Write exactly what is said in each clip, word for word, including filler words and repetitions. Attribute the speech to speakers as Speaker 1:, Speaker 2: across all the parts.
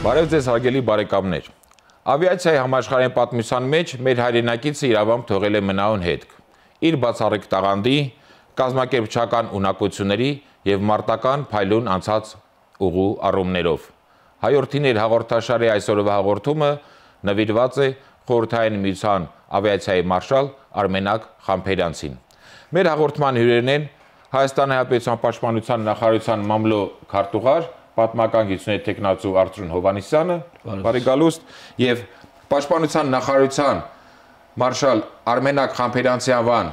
Speaker 1: Բարև ձեզ հարգելի բարեկամներ։ Ավիացիայի համաշխարհային պատմության մեջ մեր հայրենակիցը իրավամբ թողել է մնայուն հետք։ Իր բացառիկ տաղանդի, կազմակերպչական ունակությունների եւ մարտական փայլուն անցած ուղու առումներով։ Հայորդիներ հաղորդաշարի այսօրվա հաղորդումը նվիրված է Խորհրդային Միության ավիացիայի մարշալ Արմենակ Խամփերյանցին։ Մեր հաղորդման հյուրերն են Հայաստանի Հանրապետության Պաշտպանության նախարարության մամլո քարտուղար Պատմական գիտությունների տեխնացու Արծրուն Հովհաննիսյանը, բարի գալուստ, եւ Պաշտպանության նախարարության մարշալ Արմենակ Խամփերյանցի անվան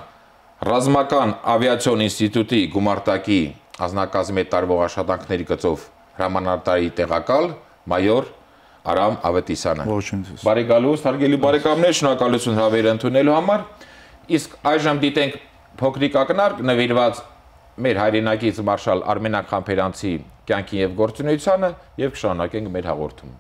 Speaker 1: ռազմական ավիացիոն ինստիտուտի գումարտակի անձնակազմի տարվող աշխատանքների գծով հրամանատարի տեղակալ մայոր Արամ Ավետիսյանը։ Բարի գալուստ, հարգելի բարեկամներ, շնորհակալություն հրավերը ընդունելու համար։ Իսկ այժմ դիտենք փոքրիկ ակնարկ նվիրված մեր հայրենակից մարշալ Արմենակ Խամփերյանցի կյանքի եւ գործունեությանը եւ կշարունակենք մեր հաղորդումը։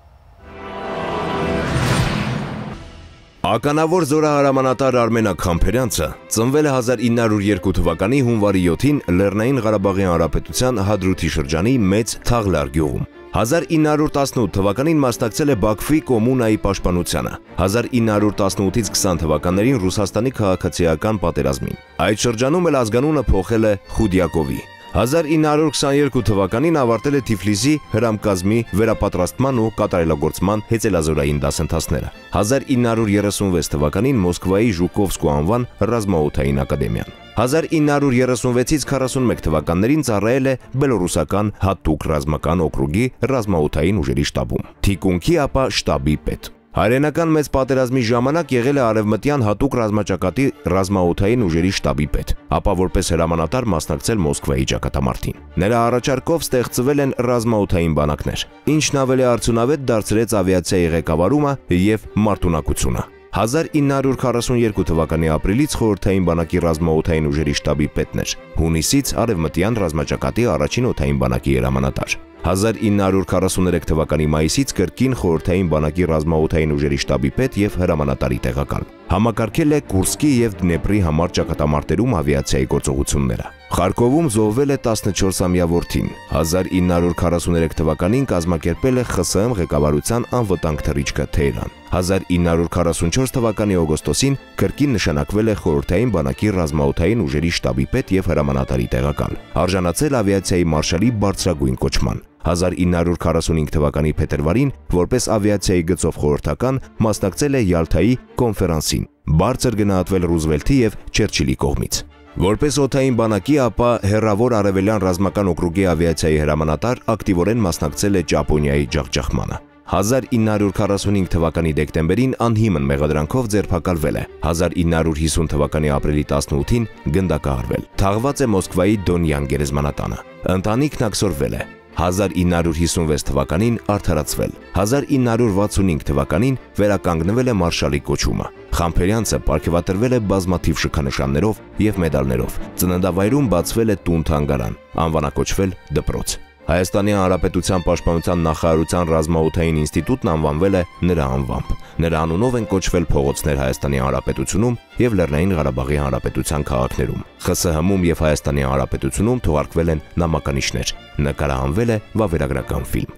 Speaker 2: Ականավոր զորահրամանատար Արմենակ Խամփերյանցը ծնվել է հազար ինը հարյուր երկու թվականի հունվարի յոթին Լեռնային Ղարաբաղի Հանրապետության Հադրութի շրջանի Մեծ Թաղլար գյուղում։ հազար ինը հարյուր տասնութ թվականին մասնակցել է Բաքվի կոմունայի պաշտպանությանը, հազար ինը հարյուր տասնութից քսան թվականներին Ռուսաստանի քաղաքացիական պատերազմին։ Այդ շրջանում էլ ազգանունը փոխել է Խուդյակովի։ հազար ինը հարյուր քսաներկու թվականին ավարտել է Թիֆլիսի հրամկազմի վերապատրաստման ու կատարելագործման հեծելազորային դասընթացները։ հազար ինը հարյուր երեսունվեց թվականին Մոսկվայի Ժուկովսկու անվան ռազմաօդային ակադեմիան։ հազար ինը հարյուր երեսունվեցից քառասունմեկ թվականներին ծառայել է Բելոռուսական հատուկ ռազմական օկրուգի ռազմաօդային ուժերի շտաբում, թիկունքի ապա շտաբի պետ։ Հայրենական մեծ պատերազմի ժամանակ եղել է Արևմտյան հատուկ ռազմաճակատի ռազմաօդային ուժերի շտաբի պետ, ապա որպես հրամանատար մասնակցել Մոսկվայի ճակատամարտին։ Նրա առաջարկով ստեղծվել են ռազմաօդային բանակներ, ինչն ավելի արդյունավետ դարձրեց ավիացիայի ղեկավարումը եւ մարտունակությունը։ հազար ինը հարյուր քառասուներկու թվականի ապրիլից խորհրդային բանակի ռազմաօդային ուժերի շտաբի պետն էր, հունիսից արևմտյան ռազմաճակատի առաջին օդային բանակի հրամանատար։ հազար ինը հարյուր քառասուներեք թվականի մայիսից կրկին խորհրդային բանակի ռազմաօդային ուժերի շտաբի պետ եւ հրամանատարի տեղակալ։ Համակարգել է Կուրսկի եւ Դնեպրի համար ճակատամարտերում ավիացիայի գործողությունները։ Խարկովում զոհվել է տասնչորսամյա որդին։ հազար ինը հարյուր քառասուներեք թվականին կազմակերպել է ԽՍՀՄ ղեկավարության անվտանգ թռիչքը Թեհրան։ հազար ինը հարյուր քառասունչորս թվականի օգոստոսին կրկին նշանակվել է խորհրդային բանակի ռազմաօդային ուժերի շտաբի պետ եւ հրամանատարի տեղակալ։ Արժանացել ավիացիայի մարշալի բարձրագույն կոչման։ հազար ինը հարյուր քառասունհինգ թվականի փետրվարին որպես ավիացիայի գծով խորհրդական մասնակցել է Յալթայի կոնֆերանսին, բարձր գնահատվել Ռուզվելթի եւ Չերչիլի կողմից։ Որպես օդային բանակի, ապա հեռավոր արևելյան ռազմական օկրուգի ավիացիայի հրամանատար ակտիվորեն մասնակցել է Ճապոնիայի ջախջախմանը։ հազար ինը հարյուր քառասունհինգ թվականի դեկտեմբերին անհիմն մեղադրանքով ձերբակալվել է, հազար ինը հարյուր հիսուն թվականի ապրիլի տասնութին գնդակահարվել։ Թաղված է Մոսկվայի Դոնյան գերեզմանատանը։ Ընտանիքն աքսորվել է։ հազար ինը հարյուր հիսունվեց թվականին արդարացվել։ հազար ինը հարյուր վաթսունհինգ թվականին վերականգնվել է մարշալի կոչումը։ Խամփերյանցը պարգևատրվել է բազմաթիվ շքանշաններով եւ մեդալներով։ Ծննդավայրում բացվել է տուն-թանգարան, անվանակոչվել դպրոց։ Հայաստանի Հանրապետության Պաշտպանության նախարարության ռազմաօդային ինստիտուտն անվանվել է նրա անվամբ։ Նրա անունով են կոչվել փողոցներ Հայաստանի Հանրապետությունում եւ Լեռնային Ղարաբաղի Հանրապետության քաղաքներում։ ԽՍՀՄ-ում եւ Հայաստանի Հանրապետությունում թողարկվել են նամականիշներ։ Նկարահանվել է վավերագրական ֆիլմ։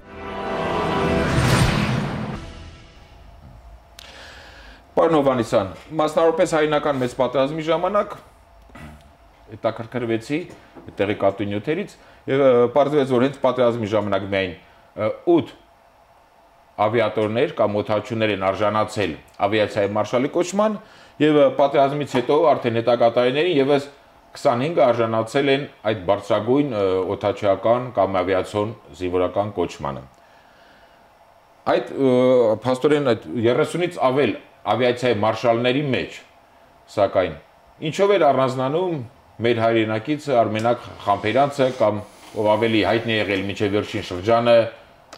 Speaker 1: Պարոն Հովհաննիսյան, մասնավորապես հայրենական մեծ պատերազմի ժամանակ հետաքրքրվեցի տեղեկատու նյութերից եւ պարզվեց, որ հենց պատերազմի ժամանակ միայն ութ ավիատորներ կամ օդաչուներ են արժանացել ավիացիայի մարշալի կոչման եւ պատերազմից հետո արդեն հետագա տարիներին եւս քսանհինգը արժանացել են այդ բարձրագույն օդաչուական կամ ավիացիոն զինվորական կոչմանը։ Այդ փաստորեն այդ երեսունից ավել ավիացիայի մարշալների մեջ, սակայն ինչով էր առանձնանում մեր հայրենակիցը Արմենակ Խամփերյանցը կամ ով ավելի հայտնի եղել մինչև վերջին շրջանը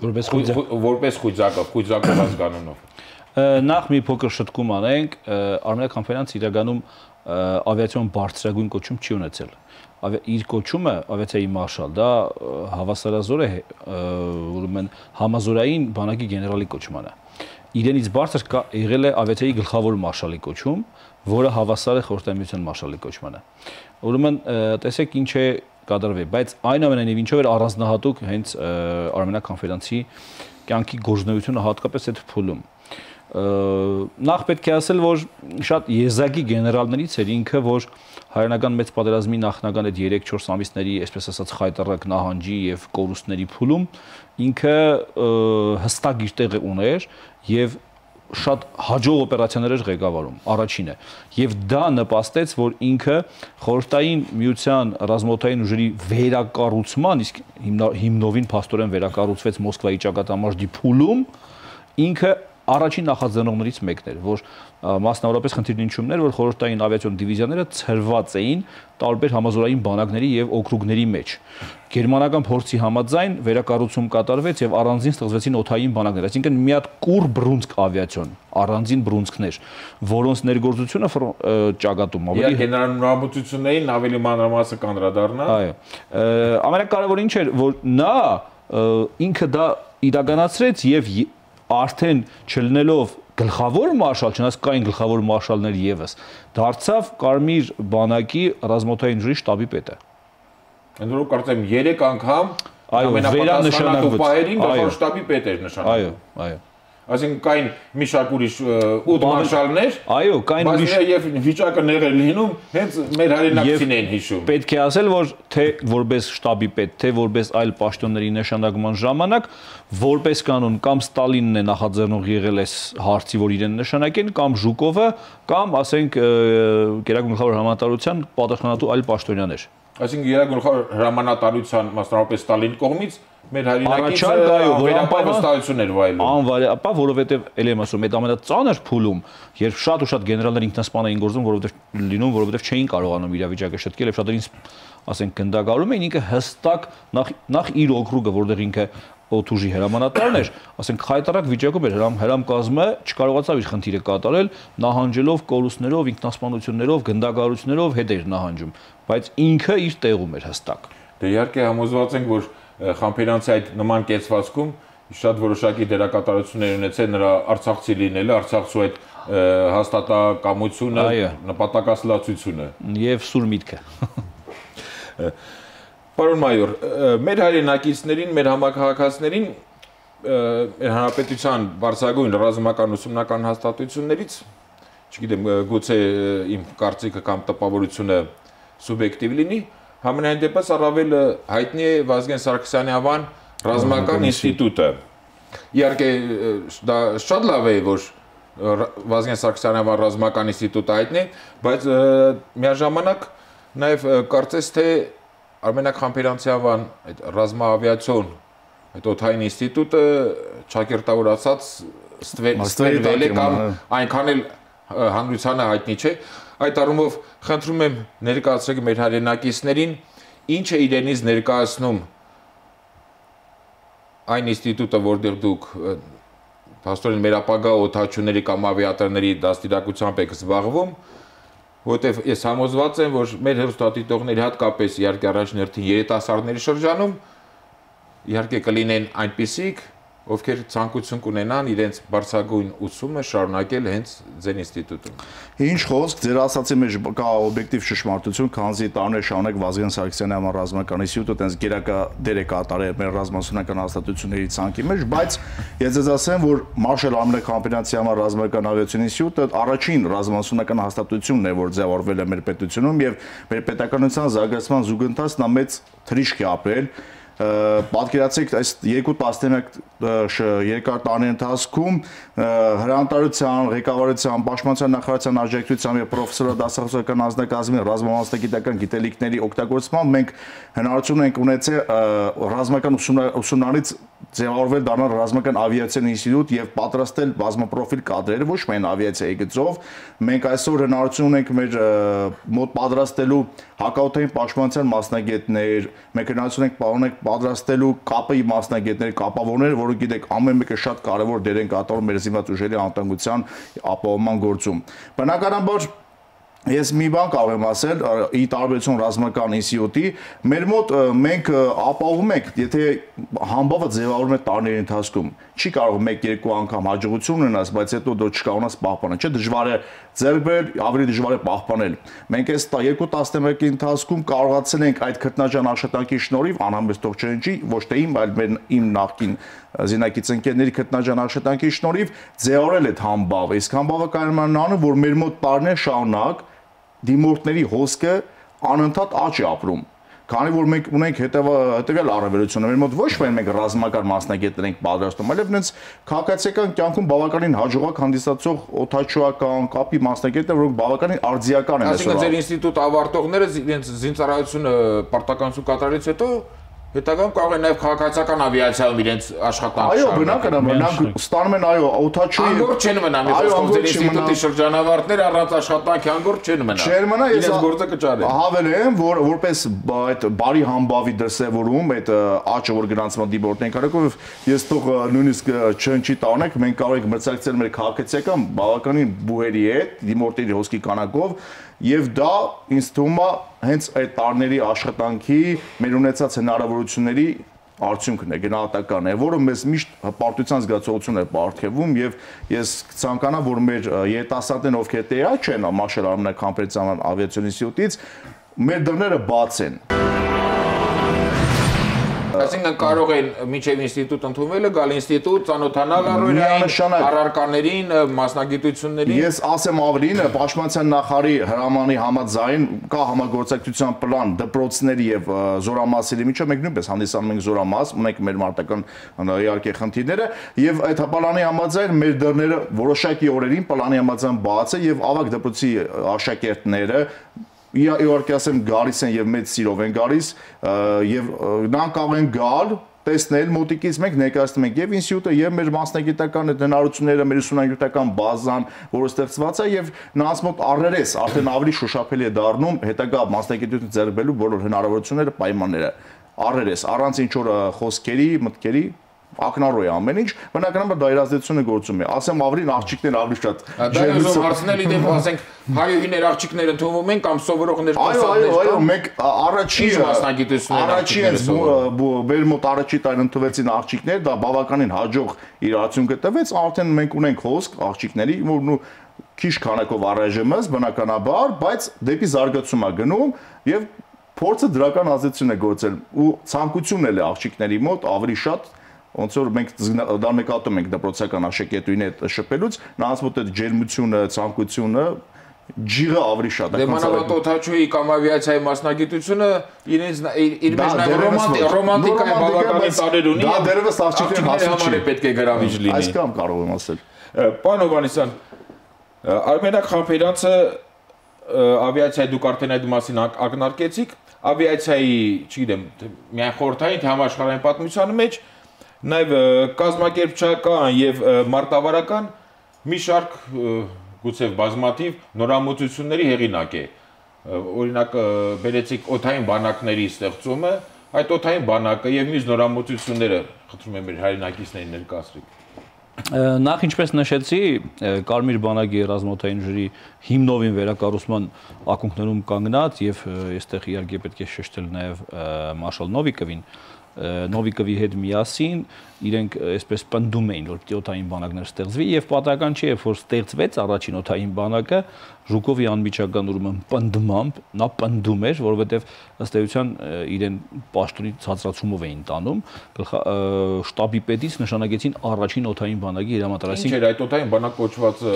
Speaker 1: որպես Խույձակով, Խույձակով ազգանունով։
Speaker 3: Նախ մի փոքր շտկում անենք, Արմենակ Խամփերյանցը իրականում ավիացիոն բարձրագույն կոչում չի ունեցել։ Իր կոչումը ավիացիայի մարշալ, դա հավասարազոր է ուրեմն համազորային բանակի գեներալի կոչմանը։ Իրենից բարձր եղել է ավիացիայի գլխավոր մարշալի կոչում, որը հավասար է խորհրդային միության մարշալի կոչմանը։ Ուրեմն տեսեք ինչ է կատարվի, բայց այնուամենայնիվ ինչով էր առանձնահատուկ հենց Արմենակ Քանֆերանսի կյանքի գործունեությունը հատկապես այդ փուլում։ Նախ պետք է ասել, որ շատ եզակի գեներալներից էր ինքը, որ հայրենական մեծ պատերազմի նախնական այդ երեք-չորս ամիսների, այսպես ասած, խայտառակ նահանջի եւ կորուստների փուլում ինքը հստակ իր տեղը ուներ եւ շատ հաջող օպերացիաներ էր ղեկավարում, առաջինը, եւ դա նպաստեց, որ ինքը խորհրդային միության ռազմաօդային ուժերի վերակառուցման, իսկ հիմնովին փաստորեն վերակառուցվեց Մոսկվայի ճակատամարտի փուլում, ինքը առաջին նախաձեռնողներից մեկն էր, որ մասնավորապես խնդիրն ինչումն էր, որ խորհրդային ավիացիոն դիվիզիաները ցրված էին տարբեր համազորային բանակների եւ օկրուգների մեջ։ Գերմանական փորձի համաձայն վերակառուցում կատարվեց եւ առանձին ստեղծվեցին օդային բանակներ, այսինքն մի հատ կուր բրունսկ ավիացիոն, առանձին բրունսկներ, որոնց ներգործությունը ճակատում ավելի
Speaker 1: գեներալ նորամուծություններին ավելի մանրամասը կանդրադառնա։
Speaker 3: Այո։ Ամենակարևորը ինչ էր, որ նա ինքը դա իրականացրեց եւ արդեն չլինելով գլխավոր մարշալ, չնայած կային գլխավոր մարշալներ եւս, դարձավ Կարմիր բանակի ռազմաօդային ուժերի շտաբի պետը։
Speaker 1: Ընդորում կարծեմ երեք անգամ ամենապատասխանատու պահերին գլխավոր շտաբի պետ էր նշանակվում։
Speaker 3: Այո, այո։
Speaker 1: Այսինքն կային մի շարք ուրիշ ութ մարշալներ,
Speaker 3: այո, կային ուրիշ
Speaker 1: եւ վիճակը նեղեր լինում, հենց մեր հայրենակցին են հիշում։
Speaker 3: Պետք է ասել, որ թե որպես շտաբի պետ, թե որպես այլ պաշտոնների նշանակման ժամանակ, որպես կանոն կամ Ստալինն է նախաձեռնող եղել այս հարցի, որ իրեն նշանակեն, կամ Ժուկովը, կամ ասենք Գերագույն գլխավոր հրամանատարության պատասխանատու այլ պաշտոնյաներ։
Speaker 1: Այսինքն Գերագույն գլխավոր հրամանատարության, մասնավորապես Ստալինի կողմից մեր հայրենակից վերապահվստահություն էր վայելում։
Speaker 3: Անվայելապահ, որովհետև ելի եմ ասում, այդ ամենածանր փուլում, երբ շատ ու շատ գեներալներ ինքնասպան էին գործում, որովհետև լինում, որովհետև չէին կարողանում իրավիճակը շտկել եւ շատերին, ասենք, գնդակարում էին, ինքը հստակ նախ նախ իր օկրուգը, որտեղ ինքը օդուժի հրամանատարն էր, ասենք խայտարակ վիճակում էր, հրամ հրամ կազմը չկարողացավ իր խնդիրը կատարել, նահանջելով կորուստներով, ինքնասպանություններով, գնդակարություններով հետ էր նահանջում, բայց ինքը իր տեղում էր հստակ։
Speaker 1: Դե իհարկե համոզված ենք, որ Խանֆերանսի այդ նման կեցվածքում շատ որոշակի դերակատարություններ ունեցել նրա արցախցի լինելը, արցախցու այդ հաստատակամությունը, նպատակասլացությունը
Speaker 3: եւ սուր միտքը։
Speaker 1: Պարոն մայոր, մեր հայրենակիցներին, մեր համակարգացիներին մեր հանրապետության բարձրագույն ռազմական ուսումնական հաստատություններից, չգիտեմ, գուցե իմ կարծիքը կամ տպավորությունը սուբյեկտիվ լինի, համենայն դեպս առավել հայտնի է Վազգեն Սարգսյանի անվան ռազմական ինստիտուտը։ Իհարկե դա շատ լավ է, որ Վազգեն Սարգսյանի անվան ռազմական ինստիտուտը հայտնի, բայց միաժամանակ նաև կարծես թե Արմենակ Խանֆերանսի անվան այդ ռազմաավիացիոն այդ օդային ինստիտուտը ճակերտավոր ասած ստվերվել է կամ այնքան էլ հանրությանը հայտնի չէ։ Այդ առումով խնդրում եմ ներկայացրեք մեր հայրենակիցներին, ինչ է իրենից ներկայացնում այն ինստիտուտը, որտեղ դուք փաստորեն մեր ապագա օդաչուների կամ ավիատորների դաստիարակությամբ եք զբաղվում, որտեղ ես համոզված եմ, որ մեր հեռուստադիտողների հատկապես իհարկե առաջին հերթին երիտասարդների շրջանում իհարկե կլինեն այնպիսիք, ովքեր ցանկություն կունենան իրենց բարձրագույն ուսումը շարունակել հենց ձեր ինստիտուտում։
Speaker 4: Ինչ խոսք, ձեր ասացի մեջ կա օբյեկտիվ ճշմարտություն, քանզի տարիներ շարունակ Վազգեն Սարգսյանի անվան ռազմական ինստիտուտը տենց գերակա դեր է կատարել մեր ռազմասունական հաստատությունների ցանկի մեջ, բայց ես ձեզ ասեմ, որ Մարշալ Արմենակ Քանֆերանսի անվան ռազմական ավիացիոն ինստիտուտը առաջին ռազմասունական հաստատությունն է, որ ձևավորվել է մեր պետությունում եւ մեր պետականության զարգացման զուգընթացն ամեծ թրիշք է ապրել։ Պատկերացրեք, այս երկու տասնամյակ երկար տարիների ընթացքում հրամանատարության, ղեկավարության, պաշտպանության նախարարության աջակցությամբ եւ պրոֆեսորական դասախոսական անձնակազմի ռազմամասնագիտական գիտելիքների օգտագործմամբ մենք հնարավորություն ենք ունեցել ռազմական ուսումնարից ձևավորվել դառնալ ռազմական ավիացիոն ինստիտուտ եւ պատրաստել բազմապրոֆիլ կադրեր, ոչ միայն ավիացիայի գծով։ Մենք այսօր հնարավորություն ունենք մեր մոտ պատրաստելու հակաօդային պաշտպանության մասնագետներ, մենք հնարավորություն ենք պարոնենք պատրաստելու կապի մասնագետներ, կապավորներ, որը գիտեք, ամեն մեկը շատ կարևոր դեր են կատարում մեր զինված ուժերի անվտանգության ապահովման գործում։ Բնականաբար Ես մի բան կարող եմ ասել, ի տարբերություն ռազմական ինստիտուտի, մեր մոտ մենք ապահովում ենք, եթե համբավը ձևավորվում է տարիների ընթացքում, չի կարող մեկ-երկու անգամ հաջողություն ունենաս, բայց հետո դու չկարողանաս պահպանել, չէ, դժվար է ձեռք բերել, ավելի դժվար է պահպանել։ Մենք այս երկու տասնմեկի ընթացքում կարողացել ենք այդ քրտնաջան աշխատանքի շնորհիվ անհամեստ թողջենջի, ոչ թե իմ, այլ մեր իմ նախկին զինակից ընկերների քրտնաջան աշխատանքի շնորհիվ ձևավորել այդ համբավը։ Իսկ համբավը կարողանում է անում, որ մեր մոտ տարիներ շարունակ դիմորդների հոսքը անընդհատ աճ է ապրում։ Քանի որ մենք ունենք հետևյալ առավելությունը, մեր մոտ ոչ միայն մենք ռազմական մասնագետներ ենք պատրաստում, այլև նենց քաղաքացիական կյանքում բավականին հաջողակ հանդիսացող օդաչուական կապի մասնագետներ, որոնք բավականին արձիական են այսօր։
Speaker 1: Այսինքն ձեր ինստիտուտ ավարտողները իրենց զինծառայությունը պարտականություն կատարելուց հետո հետագայում կարող են նաև քաղաքացիական ավիացիայում իրենց աշխատանքը
Speaker 4: շարունակել։ Այո, բնական է, նրանք ստանում են այո, օդաչուի
Speaker 1: անգործ չեն մնա, մի խոսքով ձեր ինստիտուտի շրջանավարտները առանց աշխատանքի անգործ չեն մնա։
Speaker 4: Չեն մնա, ես
Speaker 1: գործը կճարեն։
Speaker 4: Հավելեմ, որ որպես այդ բարի համբավի դրսևորում, այդ աճը, որ գրանցման դիպորտն են կարողով, ես թող նույնիսկ չնչի տանեք, մենք կարող ենք մրցակցել մեր քաղաքացիական բավականին բուհերի հետ, դիմորդների հոսքի քանակով, եւ դա ինձ թվում է հենց այդ տարիների աշխատանքի մեր ունեցած հնարավորությունների արդյունքն է, գնահատական է, որը մեզ միշտ հպարտության զգացողություն է պարգևում եւ ես ցանկանամ, որ մեր երիտասարդներն, ովքեր տեղյակ չեն Մաշել Արմենակ Համբերդյան ավիացիոն ինստիտուտից, մեր դռները բաց են։
Speaker 1: Այսինքն կարող են մինչև ինստիտուտ ընդունվելը գալ ինստիտուտ, ծանոթանալ առօրյային առարկաներին, մասնագիտություններին։
Speaker 4: Ես ասեմ ավելին, Պաշտպանության նախարարի հրամանի համաձայն կա համագործակցության պլան դպրոցների եւ զորամասերի միջև, մենք նույնպես հանդիսանում ենք զորամաս, ունենք մեր մարտական իհարկե խնդիրները եւ այդ պլանի համաձայն մեր դռները որոշակի օրերին պլանի համաձայն բաց է եւ ավագ դպրոցի աշակերտները իհարկե ասեմ գալիս են եւ մեծ սիրով են գալիս եւ նրանք կարող են գալ տեսնել մոտիկից մենք ներկայացնում ենք եւ ինստիտուտը եւ մեր մասնագիտական հնարավորությունները մեր ուսումնագիտական բազան, որը ստեղծված է եւ նրանց մոտ առերես արդեն ավելի շոշափելի է դառնում հետագա մասնագիտություն ձեռք բերելու բոլոր հնարավորությունները, պայմանները առերես առանց ինչ որ խոսքերի, մտքերի ակնառու է ամեն ինչ, բնականաբար դա իրազդեցությունը գործում է։ Ասեմ ավելին աղջիկներ ավելի շատ։
Speaker 1: Դա ուզում հարցնել իդեպ ասենք հայուհիներ աղջիկներ ընդունվում են կամ սովորողներ
Speaker 4: կասատներ։ Այո, այո, մենք առաջի
Speaker 1: մասնագիտություններ
Speaker 4: առաջի մեր մոտ առաջի տարի ընդունվեցին աղջիկներ, դա բավականին հաջող իր արդյունքը տվեց, արդեն մենք ունենք հոսք աղջիկների, որ նու քիչ քանակով առայժմս բնականաբար, բայց դեպի զարգացում է գնում եւ փորձը դրական ազդեցություն է գործել ու ցանկությունն էլ է աղջիկների մոտ ավելի շատ ոնց որ մենք դա նկատում ենք դպրոցական աշակերտուին հետ շփելուց, նրանց մոտ այդ ջերմությունը, ցանկությունը, ջիղը ավելի շատ է։
Speaker 1: Դե մանավանդ օդաչուի կամ ավիացիայի մասնագիտությունը իրենց իր մեջ նաև ռոմանտիկա է բավականին տարեր ունի։
Speaker 4: Դա դերևս աղջիկների
Speaker 1: համար է պետք է գրավիչ լինի։
Speaker 4: Այսքան կարող եմ ասել։
Speaker 1: Պարոն Հովհաննիսյան, Արմենակ Համբերդյանը ավիացիայի դուք արդեն այդ մասին ակնարկեցիք, ավիացիայի, չգիտեմ, միայն խորհրդային թե համաշխարհային պատմության մեջ նաև կազմակերպչական եւ մարտավարական մի շարք գուցե բազմաթիվ նորամուծությունների հեղինակ է։ Օրինակ բերեցիք օդային բանակների ստեղծումը, այդ օդային բանակը եւ մյուս նորամուծությունները խնդրում եմ մեր հայրենակիցներին ներկայացրեք։
Speaker 3: Նախ ինչպես նշեցի, Կարմիր բանակի ռազմաօդային ժրի հիմնովին վերակառուցման ակունքներում կանգնած եւ այստեղ իհարկե պետք է շեշտել նաեւ Մարշալ Նովիկովին, Նովիկովի հետ միասին իրենք այսպես պնդում էին, որ պիտի օդային բանակներ ստեղծվի եւ պատահական չէ, որ ստեղծվեց առաջին օդային բանակը Ժուկովի անմիջական ուրեմն պնդմամբ, նա պնդում էր, որովհետեւ ըստ էության իրեն պաշտոնի ցածրացումով էին տանում, շտաբի պետից նշանակեցին առաջին օդային բանակի հրամանտար,
Speaker 1: այսինքն ինչ էր այդ օդային բանակ կոչվածը,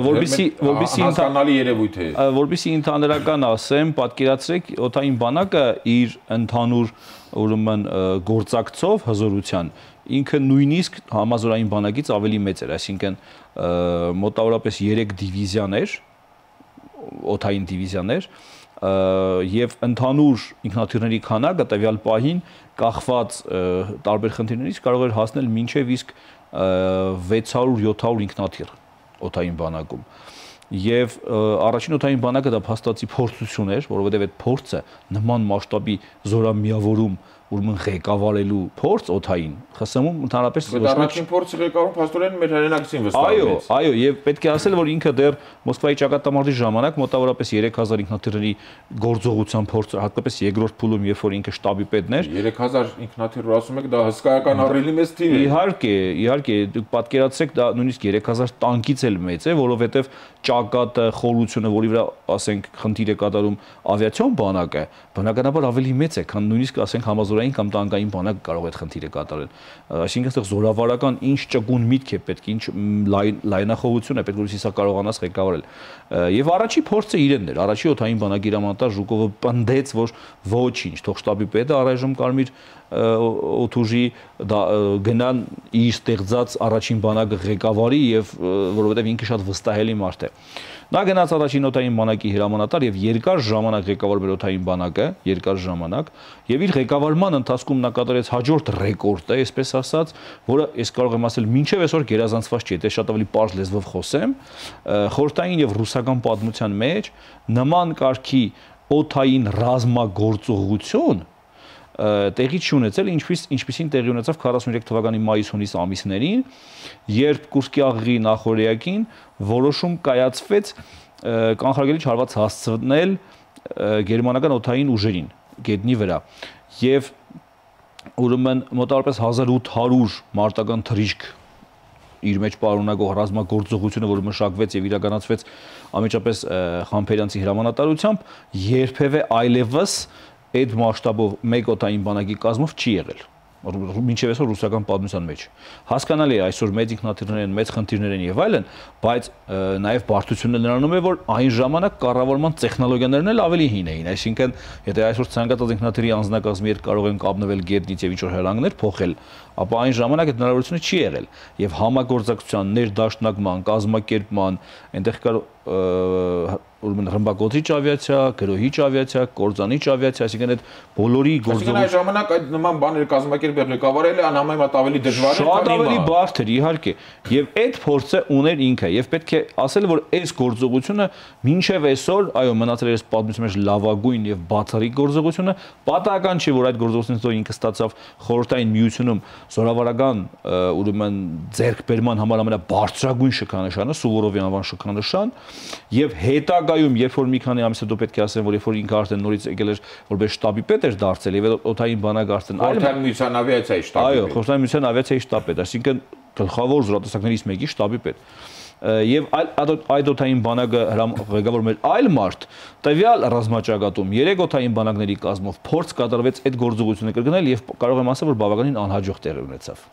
Speaker 3: որբիսի որբիսի
Speaker 1: հասկանալի երևույթ է,
Speaker 3: որբիսի ընդհանրական ասեմ, պատկերացրեք օդային բանակը իր ընդհանուր ուրեմն գործակցով հզորության ինքը նույնիսկ համազորային բանակից ավելի մեծ էր, այսինքն մոտավորապես երեք դիվիզիաներ, օդային դիվիզիաներ եւ ընդհանուր ինքնաթիռների քանակը տվյալ պահին կախված տարբեր խնդիրներից կարող էր հասնել մինչեւ իսկ վեց հարյուր յոթ հարյուր ինքնաթիռ օդային բանակում։ Եվ առաջին օդային բանակը դա փաստացի փորձություն էր, որովհետև այդ փորձը նման մասշտաբի զորամիավորում ուրեմն ղեկավարելու փորձ օթային ԽՍՀՄ-ում ընդհանրապես
Speaker 1: առաջին փորձը ղեկավարում փաստորեն մեր հայրենակցին վստահվեց։
Speaker 3: Այո, այո, եւ պետք է ասել, որ ինքը դեռ Մոսկվայի ճակատամարտի ժամանակ մոտավորապես երեք հազար ինքնաթիռների գործողության փորձը, հատկապես երկրորդ փուլում, երբ որ ինքը շտաբի պետն էր,
Speaker 1: երեք հազար ինքնաթիռ ասում եք, դա հսկայական առելի մեծ թիվ է։
Speaker 3: Իհարկե, իհարկե, դուք պատկերացրեք, դա նույնիսկ երեք հազար տանկից էլ մեծ է, որովհետեւ ճակատը, խորությունը, որի վրա, ասենք, խնդիր է կատարում ավիացիոն բանակը, բնականաբար ավելի մեծ է, քան նույնիսկ ասենք համազորային կամ տանկային բանակը կարող է այդ խնդիրը կատարել։ Այսինքն, այստեղ զորավարական ինչ ճկուն միտք է պետք, ինչ լայնախոհություն է պետք, որից սա կարողանաս ղեկավարել։ Եվ առաջի փորձը իրենն էր, առաջի օթային բանակի հրամանատար Ժուկովը պնդեց, որ ոչինչ, թող շտաբի պետը առայժմ Կարմիր օթուժի գնան իր ստեղծած առաջին բանակը ղեկավարի եւ որովհետեւ ինքը շատ վստահելի մարդ է։ Նա գնաց առաջին օթային բանակի հրամանատար եւ երկար ժամանակ ղեկավարում էր օթային բանակը, երկար ժամանակ, եւ իր ղեկավարման ընթացքում նա կատարեց հաջորդ ռեկորդը, այսպես ասած, որը ես կարող եմ ասել մինչեւ այսօր գերազանցված չի, դա շատ ավելի པարզ լեզվով խոսեմ, խորհրդային եւ ռուսական պատմության մեջ նման կարգի օթային ռազմագործողություն տեղի չունեցել, ինչպես ինչպեսին տեղի ունեցավ քառասունյոթ թվականի մայիս-հունիս ամիսներին, երբ Կուրսկի աղղի նախօրեակին որոշում կայացվեց կանխարգելիչ հարված հասցնել գերմանական օթային ուժերին գետնի վրա եւ ուրեմն մոտավորապես հազար ութ հարյուր մարտական թռիչք իր մեջ պարունակող ռազմագործողությունը, որը մշակվեց եւ իրականացվեց ամենջապես Խամփերյանցի հրամանատարությամբ, երբևէ այլևս այդ մասշտաբով մեկ օթային բանակի կազմով չի եղել, մինչև այսօր ռուսական պատմության մեջ։ Հասկանալի է, այսօր մեծ ինքնաթիռներ են, մեծ խնդիրներ են եւ այլն, բայց նաեւ բարդությունն նրանում է, որ այն ժամանակ կառավարման տեխնոլոգիաներն էլ ավելի հին էին, այսինքն եթե այսօր ցանկացած ինքնաթիռի անձնակազմի հետ կարող են կապնվել գետնից եւ ինչ-որ հրանգներ փոխել, ապա այն ժամանակ այդ հնարավորությունը չի եղել եւ համագործակցության, ներդաշնակման, կազմակերպման, այնտեղ կար ուրեմն ռմբակոծիչ ավիացիա, գրոհիչ ավիացիա, կործանիչ ավիացիա, այսինքն այդ բոլորի
Speaker 1: գործողությունները այն ժամանակ այդ նման բաներ կազմակերպել ղեկավարելը անհամեմատ ավելի դժվար է,
Speaker 3: շատ ավելի բարդ էր, իհարկե, եւ այդ փորձը ուներ ինքը եւ պետք է ասել, որ այս գործողությունը մինչեւ այսօր, այո, մնացել էր այս պատմության մեջ լավագույն եւ բացառիկ գործողությունը, պատահական չի, որ այդ գործողությունից հետո ինքը ստացավ խորհրդային միությունում զորավարական ուրեմն ձեռքբերման համար ամենաբարձրագույն շքանշանը, Սուվորովի անվան շքանշան, եւ հետագայում, երբ որ մի քանի ամիս հետո պետք է ասեմ, որ երբ որ ինքը արդեն նորից եկել էր որպես շտաբի պետ էր դարձել եւ օթային բանակ արդեն
Speaker 1: Խորհրդային միության ավիացիայի շտաբի պետ։
Speaker 3: Այո, Խորհրդային միության ավիացիայի շտաբ պետ, այսինքն գլխավոր զորատեսակներից մեկի շտաբի պետ։ Եվ այդ օթային բանակը ղեկավարում էր այլ մարդ, տվյալ ռազմաճակատում երեք օթային բանակների կազմով փորձ կատարվեց այդ գործողությունը կրկնել եւ կարող եմ ասել, որ բավականին անհաջող տեղի ունեցավ։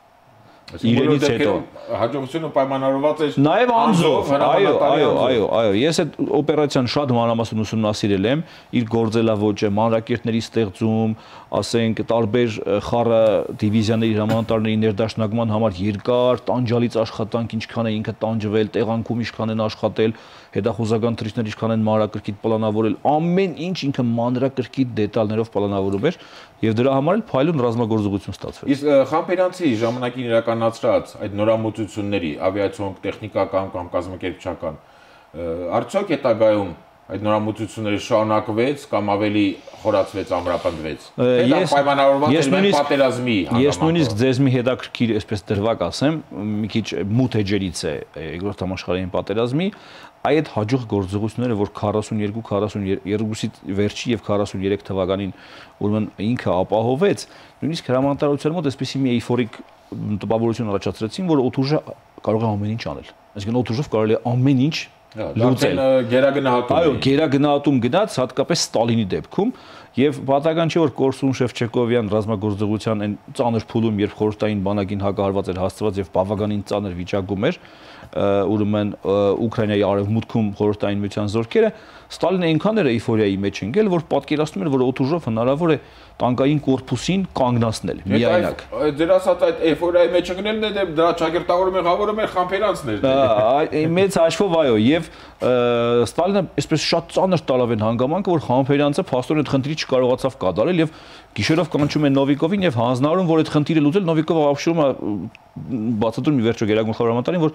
Speaker 3: Իրենից հետո
Speaker 1: հաջողությունը պայմանավորված էր
Speaker 3: նաև անձով, այո, այո, այո, այո, ես այդ օպերացիան շատ մանրամասն ուսումնասիրել եմ, իր գործելավոճը, մանրակերտների ստեղծում, ասենք տարբեր խառը դիվիզիաների հրամանատարների ներդաշնակման համար երկար տանջալից աշխատանք, ինչքան է ինքը տանջվել, տեղանքում ինչքան են աշխատել, հետախուզական թռիչքներ ինչքան են մանրակրկիտ պլանավորել, ամեն ինչ ինքը մանրակրկիտ դետալներով պլանավորում էր եւ դրա համար էլ փայլուն ռազմագործողություն ստացվեց։
Speaker 1: Իսկ Խամփերյանցի ժամանակին իրականացրած այդ նորամուծությունների ավիացիոն, տեխնիկական կամ կազմակերպչական արդյոք հետագայում այդ նորամուծությունները շարունակվեց կամ ավելի խորացվեց, ամրապնդվեց։ Դա պայմանավորված էր մեր պատերազմի
Speaker 3: համեմատ։ Ես նույնիսկ ձեզ մի հետաքրքիր, այսպես դրվագ ասեմ, մի քիչ մութ էջերից է երկրորդ համաշխարհային պատերազմի, այդ հաջող գործողությունները, որ քառասունյոթ քառասունյոթի վերջի եւ քառասունյոթ թվականին ուրեմն ինքը ապահովեց, նույնիսկ հրամանատարության մոտ այսպեսի մի էйֆորիկ տպավորություն առաջացրեցին, որ օթուժը կարող է ամեն ինչ անել։ Այսինքն օթուժով կարելի է ամեն ինչ լուծել։
Speaker 1: Գերագնահատում։
Speaker 3: Այո, գերագնահատում գնաց հատկապես Ստալինի դեպքում եւ պատահական չէ որ Կորսուն Շևչենկովյան ռազմագործողության այն ծանր փուլում, երբ խորհրդային բանակին հակահարված էր հասցված եւ բավականին ծանր վիճակում էր, ուրեմն Ուկրաինայի արևմուտքում խորհրդային միության զորքերը, Ստալինը այնքան էր էйֆորիայի մեջ ընկել, որ պատկերացնում էր, որ օթուժով հնարավոր է տանկային կորպուսին կանգնացնել միայնակ։
Speaker 1: Ձեր ասած այդ էйֆորիայի մեջ ընկնելն է դրա ճակերտավորը մեղավորում էր Խամփերյանցն էր։
Speaker 3: Մեծ հաշվով այո, եւ Ստալինը այսպես շատ ծանր տալավ են հանգամանքը, որ Խամփերյանցը փաստորեն այդ խնդիրը չկարողացավ կատարել եւ գիշերով կանչում են Նովիկովին եւ հանձնարարում, որ այդ խնդիրը լուծել, Նովիկովը ապշում է բացատրում մի վերջո Գերագույն խորհրդարանին, որ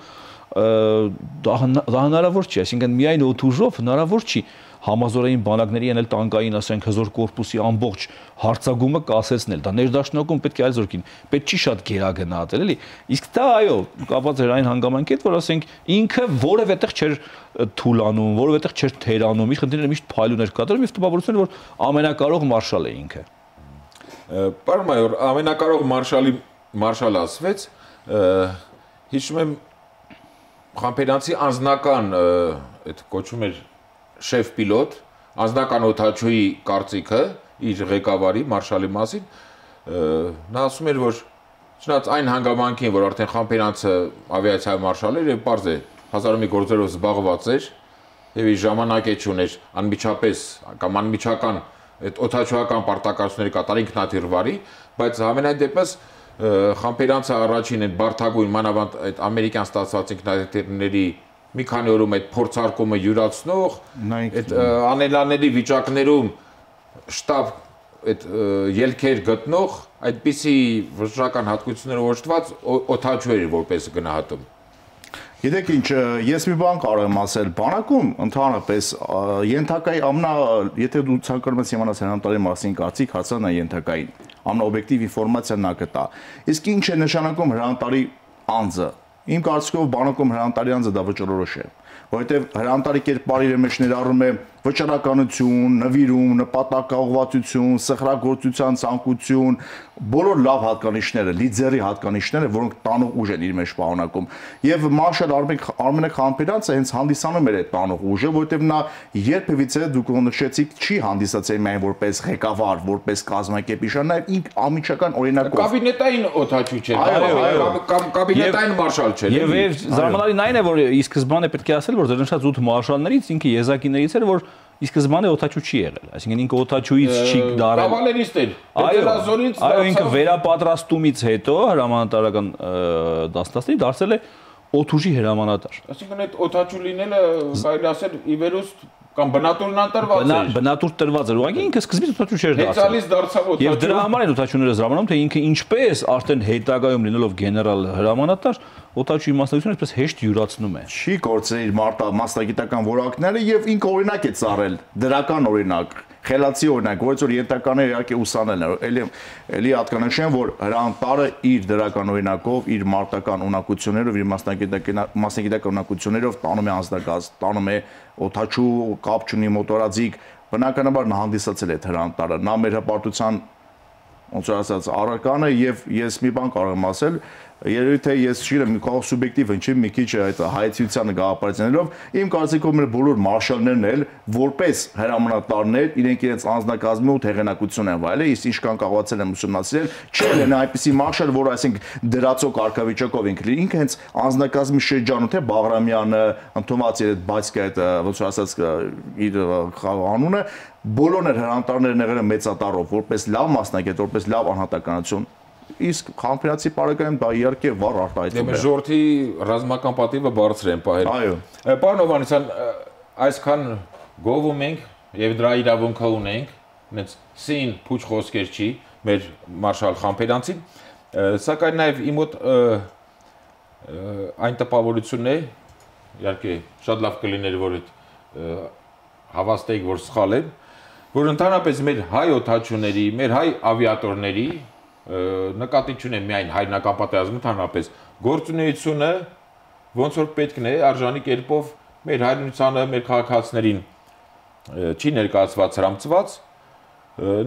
Speaker 3: դա հնարավոր չի, այսինքն միայն օդուժով հնարավոր չի համազորային բանակների ենել տանկային, ասենք, հզոր կորպուսի ամբողջ հարձակումը կասեցնել։ Դա ներդաշնակում պետք է այլ զորքին, պետք չի շատ գերագնահատել, էլի։ Իսկ դա այո, կապված էր այն հանգամանքի հետ, որ ասենք ինքը որևէ տեղ չէր թուլանում, որևէ տեղ չէր թերանում, իր խնդիրները միշտ փայլուներ կատարում եւ տպավորություն էր, որ ամենակարող մարշալ է ինքը։
Speaker 1: Պարոն մայոր, ամենակարող մարշալի մարշալ ասվեց, հիշում եմ Խամփերյանցի անձնական այդ կոչում էր շեֆ պիլոտ, անձնական օդաչուի կարծիքը իր ղեկավարի մարշալի մասին, նա ասում էր, որ չնայած այն հանգամանքին, որ արդեն Խամփերյանցը ավիացիայի մարշալ էր եւ պարզ է հազար ու մի գործերով զբաղված էր եւ իր ժամանակ է չուներ անմիջապես կամ անմիջական այդ օդաչուական պարտականությունների կատարել ինքնաթիռ վարի, բայց համենայն դեպս Խամփերյանցը առաջին այդ բարդագույն մանավանդ այդ ամերիկյան ստացված ինքնաթիռների մի քանի օրում այդ փորձարկումը յուրացնող, այդ անելանելի վիճակներում շտաբ այդ ելքեր գտնող, այդպիսի վճռական հատկություններով օժտված օդաչու էր որպես գնահատում։
Speaker 4: Գիտեք ինչ, ես մի բան կարող եմ ասել, բանակում ընդհանրապես ենթակայի ամնա, եթե դու ցանկանում ես իմանալ հրանտարի մասին կարծիք, հարցան է ենթակային, ամնաօբյեկտիվ ինֆորմացիան նա կտա։ Իսկ ինչ է նշանակում հրանտարի անձը։ Իմ կարծիքով բանակում հրանտարի անձը դա վճռորոշ է, որովհետև հրանտարի կերպարի իր մեջ ներառում է վճռականություն, նվիրում, նպատակաուղղվածություն, սխրագործության ցանկություն, բոլոր լավ հատկանիշները, լիդերի հատկանիշները, որոնք տանող ուժ են իր մեջ պարունակում։ Եվ մարշալ Արմենակ Խամփերյանցը հենց հանդիսանում էր այդ տանող ուժը, որովհետև նա երբևիցե դուք նշեցիք չի հանդիսացել միայն որպես ղեկավար, որպես կազմակերպիչ, նաև ինք անմիջական օրինակով։
Speaker 1: Կաբինետային օդաչու չէ, կաբինետային մարշալ չէ։
Speaker 3: Եվ զարմանալին այն է, որ ի սկզբանե պետք է ասել, որ դեռ նշած ութ մարշալներից ինքը եզակիներից էր, որ ի սկզբանե օդաչու չի եղել, այսինքն ինքը օդաչուից չի դարել։
Speaker 1: Կավալերիստ էր։
Speaker 3: Այո, ինքը վերապատրաստումից հետո հրամանատարական դաստաստի դարձել է օդուժի հրամանատար։
Speaker 1: Այսինքն այդ օդաչու լինելը կարելի ասել ի վերուստ կամ բնատուրն անտրված էր։
Speaker 3: Բնատուր տրված էր, ուղղակի ինքը սկզբից օդաչու չէր դարձել։
Speaker 1: Հեծալից դարձավ օդաչու։
Speaker 3: Եվ դրա համար են օդաչուները զարմանում, թե ինքը ինչպես արդեն հետագայում լինելով գեներալ հրամանատար օդաչուի մասնակցությունը այսպես հեշտ յուրացնում է։
Speaker 4: Չի կորցրել իր մասնագիտական որակները եւ ինքը օրինակ է ծառել, դրական օրինակ, խելացի օրինակ, որից որ ենթականները իհարկե ուսանել են։ Էլի էլի հատկանշեմ, որ հրանտարը իր դրական օրինակով, իր մարտական ունակություններով, իր մասնագիտական մասնագիտական ունակություններով տանում է անձնակազմ, տանում է օդաչու, կապ չունի մոտորաձիգ, բնականաբար նա հանդիսացել է հրանտարը, նա մեր հպարտության ոնց որ ասած առարկան է եւ ես մի բան կարող եմ ասել, երևի թե ես չգիտեմ, կարող սուբյեկտիվ ընչի մի քիչ այդ հայեցությանը գաղափարություններով, իմ կարծիքով մեր բոլոր մարշալներն էլ որպես հրամանատարներ իրենք իրենց անձնակազմի ու հեղինակություն են վայելել, իսկ ինչքան կարողացել են ուսումնասիրել, չէ՞ են այնպիսի մարշալ, որ այսինքն դրածո կարգավիճակով ինքը ինքը հենց անձնակազմի շրջանում թե Բաղրամյանը, ընդունված իր այդ բացկա այդ ոնց որ ասած իր անունը բոլորն էլ հրանտարներն եղել են մեծատառով, որպես լավ մասնագետ, որպես լավ անհատականություն, իսկ Խամփերյանցի պարագայում դա իհարկե վառ արտահայտում է։
Speaker 1: Դե ժողովրդի ռազմական պատիվը բարձր են պահել։
Speaker 4: Այո։
Speaker 1: Պարոն Հովհաննիսյան, այսքան գովում ենք եւ դրա իրավունքը ունենք, այնց սին փուչ խոսքեր չի մեր մարշալ Խամփերյանցին, սակայն նաեւ իմ մոտ այն տպավորությունն է, իհարկե շատ լավ կլիներ, որ այդ հավաստեիք, որ սխալ է, որ ընդհանրապես մեր հայ օդաչուների, մեր հայ ավիատորների նկատի չունեմ միայն հայրենական պատերազմը, ընդհանրապես գործունեությունը ոնց որ պետքն է արժանի կերպով մեր հայրենությանը, մեր քաղաքացիներին չի ներկայացված հրամցված,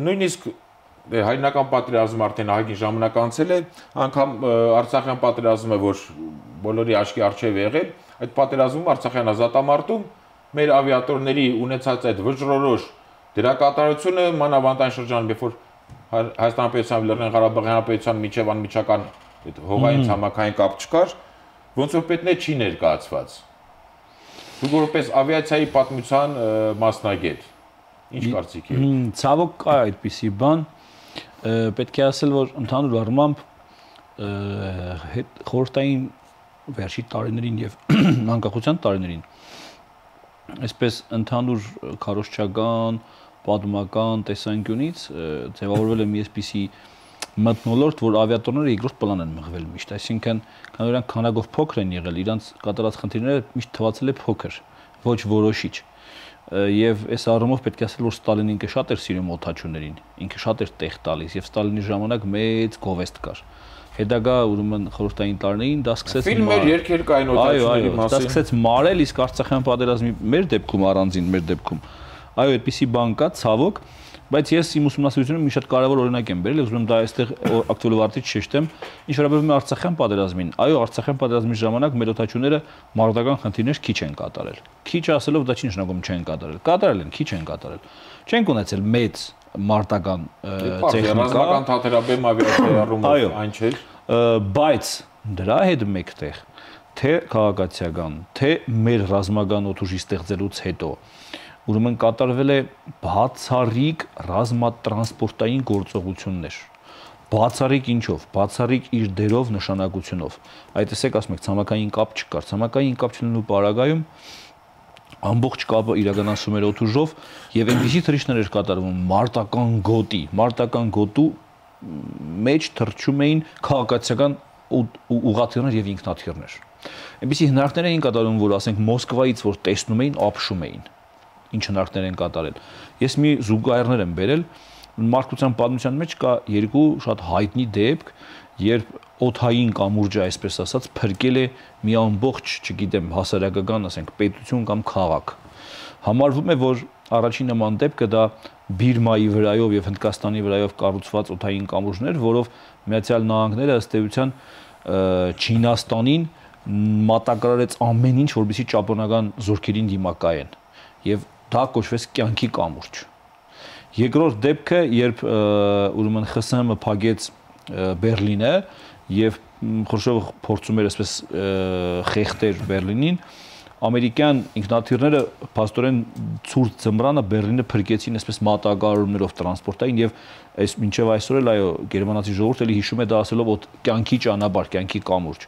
Speaker 1: նույնիսկ հայրենական պատերազմը արդեն ահագին ժամանակ անցել է, անգամ Արցախյան պատերազմը, որ բոլորի աչքի առջև է եղել, այդ պատերազմում Արցախյան ազատամարտում մեր ավիատորների ունեցած այդ վճռորոշ դերակատարությունը մանավանդ այն շրջանում, երբ որ Հայաստան Հանրապետության Լեռնային Ղարաբաղի Հանրապետության միջև անմիջական այդ հողային ցամաքային կապ չկար, ոնց որ պետք է չի ներկայացված։ Դուք որպես ավիացիայի պատմության մասնագետ, ինչ կարծիք եք։
Speaker 3: Ցավոք կա այդպիսի բան, պետք է ասել, որ ընդհանուր առմամբ խորհրդային վերջի տարիներին եւ անկախության տարիներին այսպես ընդհանուր քարոզչական, պատմական տեսանկյունից ձևավորվել է մի այսպիսի մթնոլորտ, որ ավիատորները երկրորդ պլան են մղվել միշտ, այսինքն քանի որ քանակով փոքր են եղել, իրանց կատարած խնդիրները միշտ թվացել է փոքր, ոչ որոշիչ։ Եվ այս առումով պետք է ասել, որ Ստալինին ինքը շատ էր սիրում օդաչուներին, ինքը շատ էր տեղ տալիս եւ Ստալինի ժամանակ մեծ գովեստ կար։ Հետագա ուրեմն խորհրդային տարիներին դա սկսեց
Speaker 1: ֆիլմեր, երգեր կային օդաչուների մասին։
Speaker 3: Դա սկսեց մարել, իսկ Արցախյան պատերազմի մեր դեպքում առանձին մեր դեպքում այո, այդպիսի բան կա, ցավոք, բայց ես իմ ուսումնասիրությունում մի շատ կարևոր օրինակ եմ բերել, ուզում եմ դա այստեղ ակտուալվարտից շեշտեմ, ինչ վերաբերում է Արցախյան պատերազմին։ Այո, Արցախյան պատերազմի ժամանակ մեր օդաչուները մարտական խնդիրներ քիչ են կատարել։ Քիչ ասելով դա չի նշանակում չեն կատարել։ Կատարել են, քիչ են կատարել։ Չենք ունեցել մեծ մարտական տեխնիկա,
Speaker 1: ռազմական թատերաբեմ ավիացիայի առումով այն չէր,
Speaker 3: բայց դրա հետ մեկտեղ թե քաղաքացիական, թե մեր ռազմական օդուժի ստեղծելուց հետո ուրեմն կատարվել է բացառիկ ռազմատրանսպորտային գործողություններ։ Բացառիկ ինչով, բացառիկ իր դերով, նշանակությունով։ Այդ տեսեք, ասում եք, ցամաքային կապ չկար, ցամաքային կապ չլինելու պարագայում ամբողջ կապը իրականացում էր օդուժով եւ այնպիսի թռիչքներ էր կատարվում մարտական գոտի, մարտական գոտու մեջ թռչում էին քաղաքացիական ուղղաթիռներ եւ ինքնաթիռներ։ Այնպիսի հնարքներ էին կատարվում, որ ասենք Մոսկվայից որ տեսնում էին, ապշում էին։ Ինչ հնարքներ են կատարել։ Ես մի զուգահեռներ եմ բերել, մարդկության պատմության մեջ կա երկու շատ հայտնի դեպք, երբ օդային կամուրջը, այսպես ասած, փրկել է մի ամբողջ, չգիտեմ, հասարակական, ասենք, պետություն կամ քաղաք։ Համարվում է, որ առաջին նման դեպքը դա Բիրմայի վրայով եւ Հնդկաստանի վրայով կառուցված օդային կամուրջներ, որով Միացյալ Նահանգները ըստ էության Չինաստանին մատակարարեց ամեն ինչ, որպեսզի ճապոնական զորքերին դիմակայեն։ Եվ դա կոչվեց կյանքի կամուրջ։ Երկրորդ դեպքը, երբ ուրեմն ԽՍՀՄ փակեց Բերլինը եւ Խրուշչովը փորձում էր այսպես խեղդեր Բերլինին, ամերիկյան ինքնաթիռները փաստորեն ցուրտ ձմռանը Բերլինը փրկեցին այսպես մատակարարումներով տրանսպորտային եւ այս մինչեւ այսօր էլ այո գերմանացի ժողովուրդը էլի հիշում է դա ասելով որ կյանքի ճանապարհ, կյանքի կամուրջ։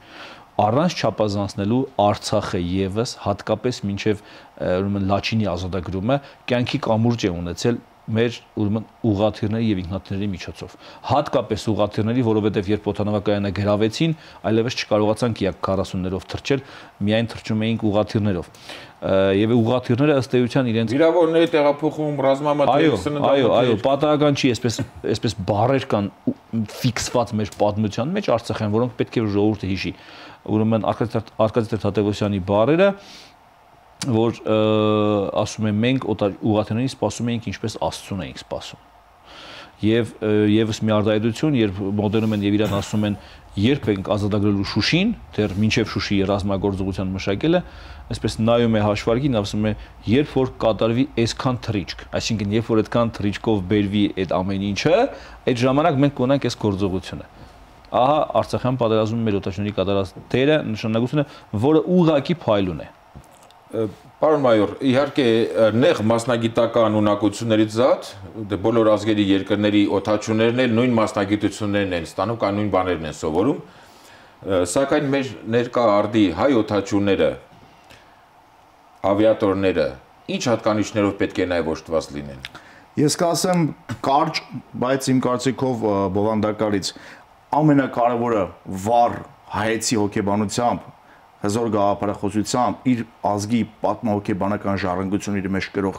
Speaker 3: Առանց չափազանցնելու Արցախը եւս հատկապես մինչեւ ուրեմն Լաչինի ազատագրումը կյանքի կամուրջ է ունեցել մեր ուրեմն ուղղաթիռների եւ ինքնաթիռների միջոցով։ Հատկապես ուղղաթիռների, որովհետեւ երբ օդանավակայանը գրավեցին, այլևս չկարողացանք յակ քառասուններով թռչել, միայն թռչում էինք ուղղաթիռներով։ Եվ ուղղաթիռները ըստ էության իրենց
Speaker 1: վիրավորների տեղափոխում ռազմամատերիալ սննդամթերք։
Speaker 3: Այո, այո, պատահական չի, այսպես այսպես բառեր կան ֆիքսված մեր պատմության մեջ Արցախյան, որոնք պետք է ժողովուրդը հիշի։ Ուրեմն Արկադի Թադևոսյանի բառերը որ ասում եմ մենք ուղղաթիռներին սպասում էինք ինչպես Աստծուն էինք սպասում։ Եվ եւս մի արտահայտություն, երբ մոդերնում են եւ իրան ասում են երբ ենք ազատագրելու Շուշին, դեռ մինչեւ Շուշիի ռազմագործողության մշակելը, այսպես նայում է հաշվարկին, ասում է երբ որ կատարվի այսքան թռիչք, այսինքն երբ որ այդքան թռիչքով բերվի այդ ամեն ինչը, այդ ժամանակ մենք կունենանք այս գործողությունը։ Ահա Արցախյան պատերազմում մեր օտաչների կատարած դերը նշանակությունը, որը ուղղակի փայլուն է։
Speaker 1: Պարոն մայոր, իհարկե նեղ մասնագիտական ունակություններից զատ, բոլոր ազգերի երկրների օդաչուներն էլ նույն մասնագիտություններն են ստանում, կան նույն բաներն են սովորում, սակայն մեր ներկա արդի հայ օդաչուները, ավիատորները, ինչ հատկանիշներով պետք է նաև օժտված լինեն։
Speaker 4: Ես կասեմ կարճ, բայց իմ կարծիքով բովանդակալից ամենակարևորը վառ հայեցի հոգեբանությամբ հզոր գաղափարախոսությամբ իր ազգի պատմահոգեբանական ժառանգությունն իր մեջ կրող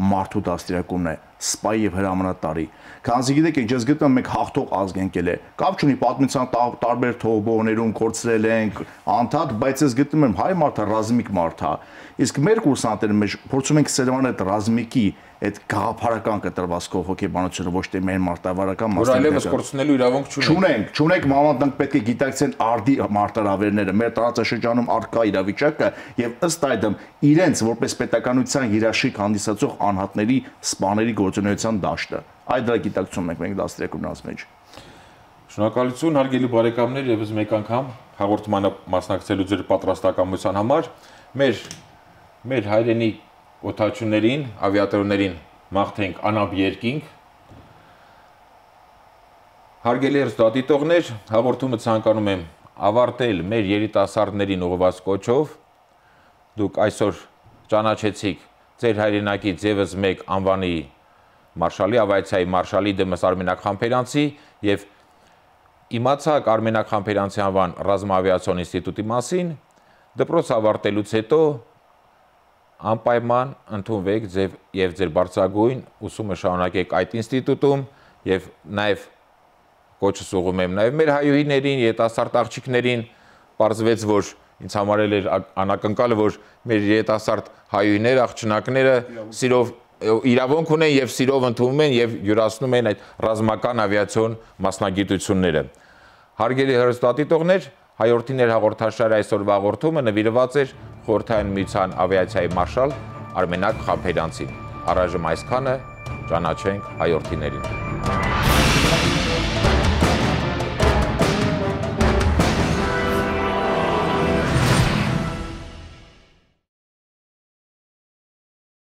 Speaker 4: մարդու դաստիարակումն է, սպայի եւ հրամանատարի։ Քանզի գիտեք, ես գտնում եմ մենք հաղթող ազգ ենք ելե։ Կապ չունի պատմության տարբեր թողբողներում կորցրել ենք, անդադ, բայց ես գտնում եմ հայ մարդը ռազմիկ մարդ է։ Իսկ մեր կուրսանտերը մեջ փորձում ենք սերմանել այդ ռազմիկի այդ գաղափարական կտրվածքով հոգեբանությունը ոչ թե մեր մարտավարական
Speaker 1: մասն է։ Որ այլևս կորցնելու իրավունք չունենք։
Speaker 4: Չունենք, չունենք մամանտանք պետք է գիտակցեն արդի մարտահրավերները, մեր տարածաշրջանում առկա իրավիճակը եւ ըստ այդմ իրենց որպես պետականության հիրաշիկ հանդիսացող անհատների սպաների գործունեության դաշտը։ Այդ դրա գիտակցում ենք մենք դաստիարակումնաց մեջ։
Speaker 1: Շնորհակալություն հարգելի բարեկամներ, եւս մեկ անգամ հաղորդմանը մասնակցելու ձեր պատրաստակամության համար։ Մեր մեր հայրենի օդաչուներին, ավիատորներին մաղթենք անապ երկինք։ Հարգելի հեռուստադիտողներ, հաղորդումը ցանկանում եմ ավարտել մեր երիտասարդներին ուղղված կոչով։ Դուք այսօր ճանաչեցիք ձեր հայրենակից եւս մեկ անվանի մարշալի ավիացիայի մարշալի Դեմս Արմենակ Խամփերյանցի եւ իմացաք Արմենակ Խամփերյանցի անվան ռազմավիացիոն ինստիտուտի մասին, դպրոց ավարտելուց հետո անպայման ընդունվեք ձեր եւ ձեր բարձրագույն ուսումը շարունակեք այդ ինստիտուտում եւ նաեւ կոչս ուղղում եմ նաեւ մեր հայուհիներին, երիտասարդ աղջիկներին, պարզվեց, որ ինձ համար էլ էր անակնկալը, որ մեր երիտասարդ հայուհիներ, աղջնակները սիրով իրավունք ունեն եւ սիրով ընդունում են եւ յուրացնում են այդ ռազմական ավիացիոն մասնագիտությունները։ Հարգելի հեռուստադիտողներ, Հայորդիներ հաղորդաշարի այսօրվա հաղորդումը նվիրված էր Խորհրդային Միության ավիացիայի մարշալ Արմենակ Խամփերյանցին։ Առայժմ այսքանը, ճանաչենք հայորդիներին։